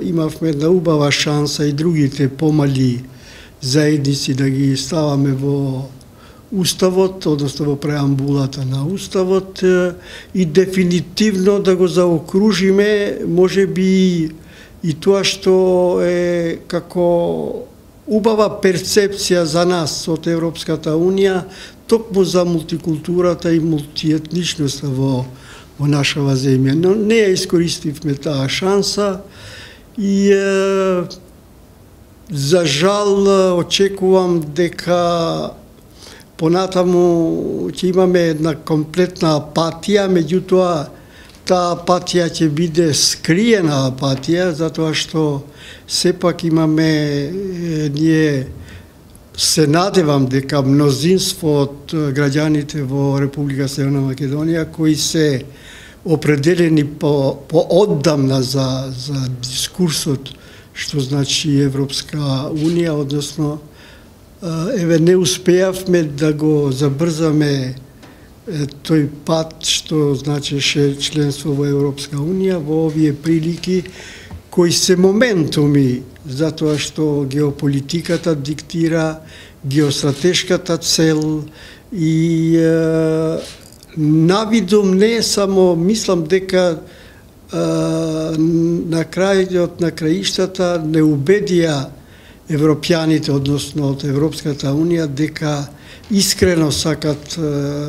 Имавме една убава шанса и другите помали заедници да ги ставаме во Уставот, односно во преамбулата на Уставот и дефинитивно да го заокружиме, можеби и тоа што е како убава перцепција за нас од Европската Унија, токму за мултикултурата и мултиетничноста во нашава земја. Но не ја искористивме таа шанса и за жал очекувам дека понатаму ќе имаме една комплетна апатија, меѓутоа таа апатија ќе биде скриена апатија, затоа што сепак имаме, ние се надевам дека мнозинство од граѓаните во Република Северна Македонија кои се определени по оддамна за дискурсот што значи Европска Унија, односно еве не успеавме да го забрзаме тој пат што значеше членство во Европска Унија во овие прилики кои се моментуми, затоа што геополитиката диктира, геостратешката цел и навидум не само, мислам дека на крајот на краиштата не убедија европјаните, односно од Европската Унија, дека искрено сакат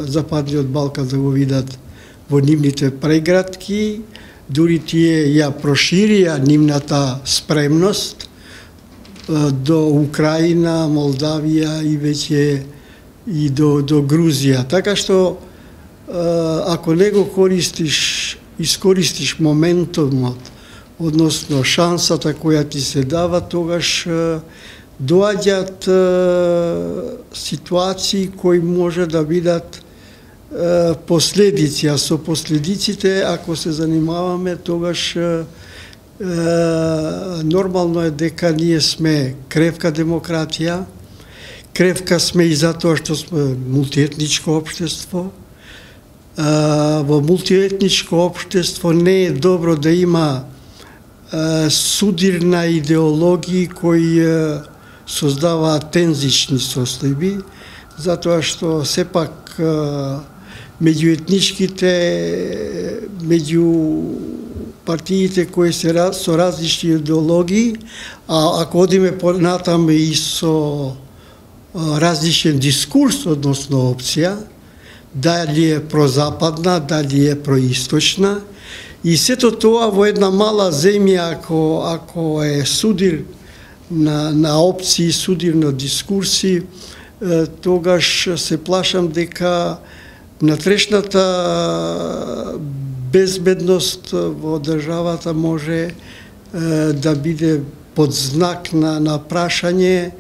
Западниот Балкан да го видат во нивните прегратки, дури тие ја проширија нивната спремност до Украина, Молдавија и веќе и до Грузија. Така што ако не го искористиш моментумот, односно шансата која ти се дава, тогаш доаѓаат ситуации кои може да бидат последици, а со последиците, ако се занимаваме, тогаш нормално е дека ние сме кревка демократија, кревка сме и затоа што сме мултиетничко општество. Во мултиетничко општество не е добро да има судирна идеологии кои создаваат тензични состојби, затоа што сепак меѓуетничките, меѓу партиите кои се со различни идеологии, а ако одиме понатаме и со различен дискурс, односно опција, дали е прозападна, дали е происточна, и сето тоа во една мала земја, ако е судир на опции, судир на дискурси, тогаш се плашам дека натрешната безбедност во државата може да биде под знак на прашање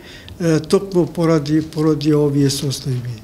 токму поради овие состојби.